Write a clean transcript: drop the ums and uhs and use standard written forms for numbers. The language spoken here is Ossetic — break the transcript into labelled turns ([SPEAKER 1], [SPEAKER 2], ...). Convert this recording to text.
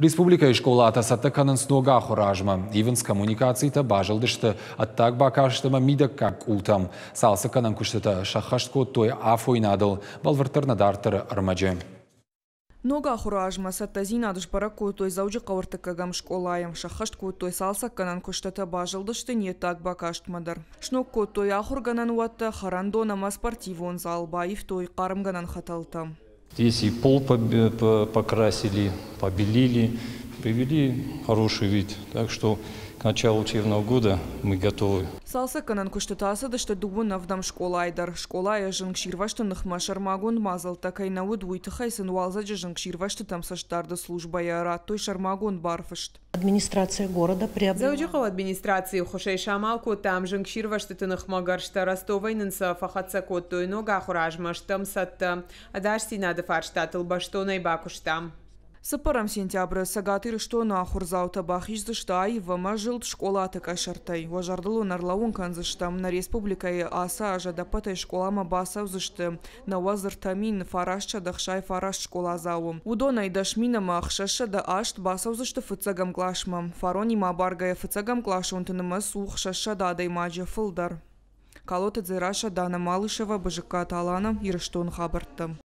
[SPEAKER 1] Республикӕйы скъолатӕ цӕттӕ кӕнынц ног ахуыры азмӕ. Ивынц коммуникацитӕ, базылдысты ӕддаг бакаст ӕмӕ мидӕггаг къултӕм. Цалцӕггӕнӕн куыстытӕ сӕххӕст кодтой афойнадыл, бӕлвырддӕр нӕ дарддӕры ӕрмӕджы.
[SPEAKER 2] Ног ахуыры азмӕ цӕттӕдзинад сбӕрӕг кодтой Дзӕуджыхъӕуы ӕртыккӕгӕм скъолайы. Сӕххӕст кодтой цалцӕггӕнӕн куыстытӕ, базылдысты не ддаг бакастмӕ дӕр. Сног кодтой ахуыргӕнӕн уӕттӕ, хӕрӕндон ӕмӕ спортивон зал, баивтой хъармгӕнӕн хӕтӕлтӕ.
[SPEAKER 3] Здесь и пол покрасили, побелили, привели хороший вид. Так что к началу учебного года мы готовы.
[SPEAKER 2] Цалцӕггӕнӕн куыстытӕ ацыдысты дыууын ӕвдӕм скъолайы дӕр. Скъолайы зынгсирвӕзты ныхмӕ сӕрмагонд мадзӕлттӕ кӕй нӕ уыд, уый тыххӕй сын уалдзӕджы зынгсирвӕзтытӕм цӕстдарды службӕйӕ радтой сӕрмагонд барфыст.
[SPEAKER 4] Администрация города приобрела.
[SPEAKER 5] Дзӕуджыхъӕуы администрацийы ӕххуысӕй самал кодтам зынгсирвӕзтыты ныхмӕ гӕрзтӕ, Ростовӕй нын сӕ фӕхӕццӕ кодтой. Ног ахуыры азмӕ стӕм цӕттӕ. Ӕдасдзинады фарстатыл бӕстонӕй бакуыстам.
[SPEAKER 2] Цыппӕрӕм сентябры Цӕгат Ирыстоны ахуырдзаутӕ бахиздзысты аив ӕмӕ зылд скъолаты къӕсӕртӕй. Уӕ зӕрдыл уын ӕрлӕууын кӕндзыстӕм, нӕ республикӕйы ацы аз ӕдӕппӕтӕй скъоламӕ бацӕудзысты 93 969 скъоладзауы. Уыдонӕй 10 608 бацӕудзысты фыццӕгӕм къласмӕ. Фаронимӕ абаргӕйӕ фыццӕгӕмкъласонты нымӕц у 600 адӕймаджы фылдӕр. Калоты Дзерассӕ, Дана Малышева, Бызыккаты Алана, Ирыстоны хабӕрттӕ.